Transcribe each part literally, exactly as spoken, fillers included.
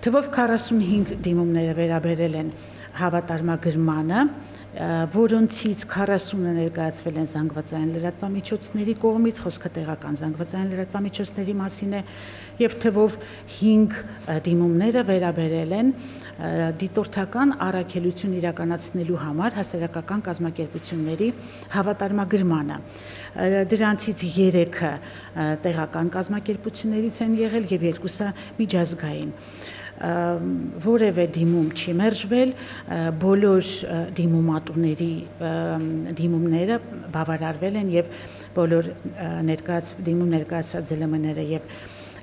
Թվով քառասունհինգ դիմումները վերաբերել են հավատարմագրմանը, որոնցից քառասունը ներկայացվել են զանգվածային լրատվամիջոցների կողմից, խոսքը տեղական զանգվածային լրատվամիջոցների մասին է, եւ թվով հինգ դիմումները վերաբերել են դիտորդական առաքելություն իրականացնելու համար հասարակական կազմակերպությունների հավատարմագրմանը։ Դրանցից երեքը տեղական կազմակերպություններից են եղել եւ երկուսը միջազգային։ Որևէ դիմում չի մերժվել, բոլոր դիմումատուների դիմումները բավարարվել են եւ բոլոր ներկայաց դիմում ներկայացած զելմները եւ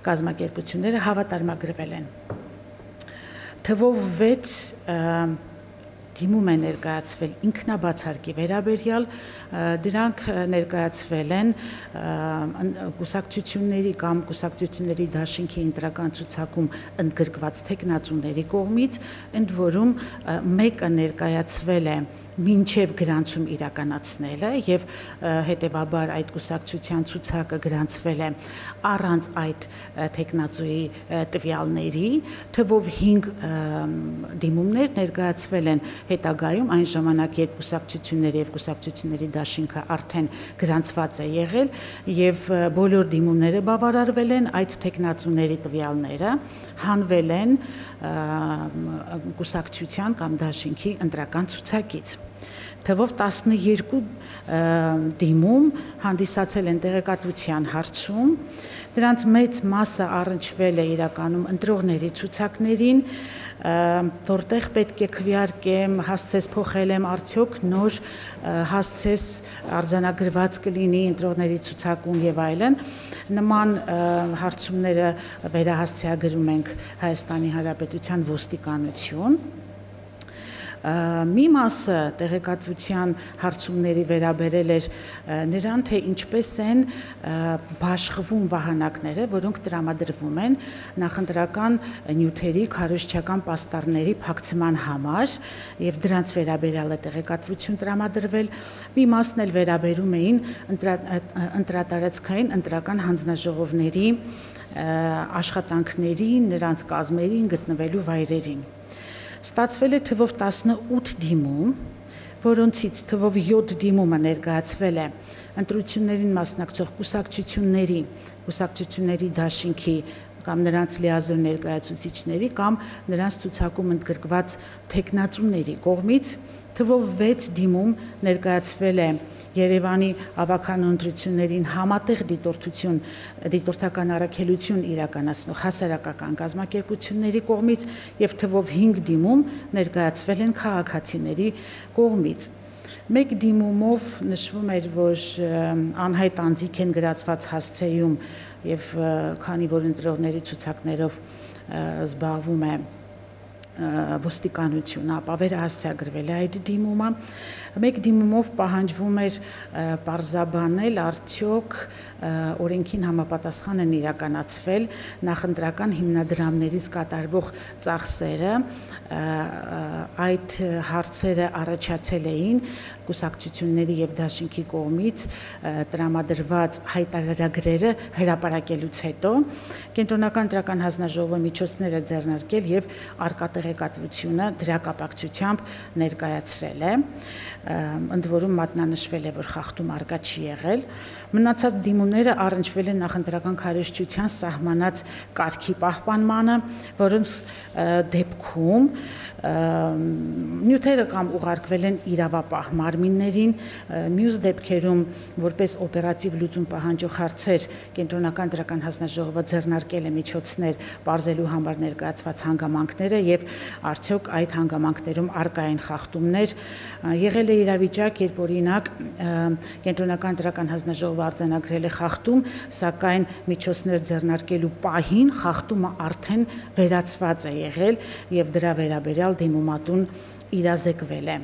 կազմակերպությունները հավատարմագրվել են։ Թվով վեց դիմում է ներկայացվել ինքնաբացարկի վերաբերյալ, դրանք ներկայացվել են կուսակցությունների կամ կուսակցությունների դաշինքի ընտրական ցուցակում ընդգրկված թեկնածուների կողմից, ընդ որում մեկը ներկայացվել է մինչև գրանցում իրականացնելը եւ հետեւաբար այդ կուսակցության ցուցակը գրանցվել է առանց այդ թեկնածուի տվյալների, թվով հինգ դիմումներ ներկայացվել են հետագայում այն ժամանակ, երբ կուսակցությունների եւ կուսակցությունների դաշինքը արդեն գրանցված է եղել եւ բոլոր դիմումները բավարարվել են, այդ թեկնածուների տվյալները հանվել են կուսակցության կամ դաշինքի ընտրական ցուցակից։ Թվով տասնյոթ դիմում հանդիսացել են տեղեկատվության հարցում, դրանց մեծ մասը առնչվել է իրականում ընտրողների ցուցակներին, որտեղ պետք է քվեարկեմ, հասցես փոխել եմ արդյոք նոր հասցես արձանագրված կլինի ընտրողների ցուցակում եւ այլն։ Նման հարցումները վերահասցեագրում ենք Հայաստանի Հանրապետության ոստիկանություն։ Մի մասը տեղեկատվության հարցումների վերաբերել էր նրան, թե ինչպես են բաշխվում վահանակները, որոնք տրամադրվում են նախընտրական նյութերի քարոզչական պաստառների փակցման համար եւ դրանց վերաբերյալ է տեղեկատվություն տրամադրվել։ Մի մասն էլ վերաբերում էին ընտրատարածքային ընտրական հանձնաժողովների աշխատանքներին, նրանց կազմերին, գտնվելու վայրերին։ Ստացվել է թվով տասնութ դիմում, որոնցից թվով յոթ դիմումը ներկայացվել է ընտրություններին մասնակցող կուսակցությունների, կուսակցությունների դաշինքի կամ նրանց լիազոր ներկայացուցիչների կամ նրանց ցուցակում ընդգրկված թեկնածուների կողմից, թվով վեց դիմում ներկայացվել է Երևանի ավագանու ընտրություններին համատեղ դիտորդություն, դիտորդական առաքելություն իրականացնող հասարակական կազմակերպությունների կողմից եւ թվով հինգ դիմում ներկայացվել են քաղաքացիների կողմից։ Մեկ դիմումով նշվում էր, որ անհայտ անձիկ են գրացված հասցեում եւ քանի որ ընտրողների ցուցակներով զբաղվում է ոստիկանությունը, ապա վերահասցեագրվել է այդ դիմումը։ Մեկ դիմումով պահանջվում էր պարզաբանել արդյոք օրենքին համապատասխան են իրականացվել նախընտրական հիմնադրամներից կատարվող ծախսերը, այդ հարցերը առաջացել էին կուսակցությունների եւ դաշինքի կողմից տրամադրված հայտարարագրերը հրապարակելուց հետո կենտրոնական ընտրական հանձնաժողովը միջոցներ է ձեռնարկել եւ արկա տեղեկատվությունը դրա կապակցությամբ ներկայացրել է, ընդ որում մատնանշվել է, որ խախտում արկա չի եղել։ Մնացած դիմումները առնչվել են նախընտրական քարոզչության սահմանած կարգի պահպանմանը, որոնց դեպքում նյութերը կամ ուղարկվել են իրավապահ մարմիններին, մյուս դեպքերում որպես օպերատիվ լուծում պահանջող հարցեր կենտրոնական ընտրական հանձնաժողովը ձեռնարկել է միջոցներ պարզելու համար ներկայացված հանգամանքները եւ արդյոք այդ հանգամանքներում արկա են խախտումներ։ Եղել է իրավիճակ, երբ օրինակ կենտրոնական ընտրական հանձնաժողովը արձանագրել է խախտում, սակայն միջոցներ ձեռնարկելու պահին խախտումը արդեն վերացված է եղել եւ դրա վերաբերյալ դիմումատուն իրազեկվել է։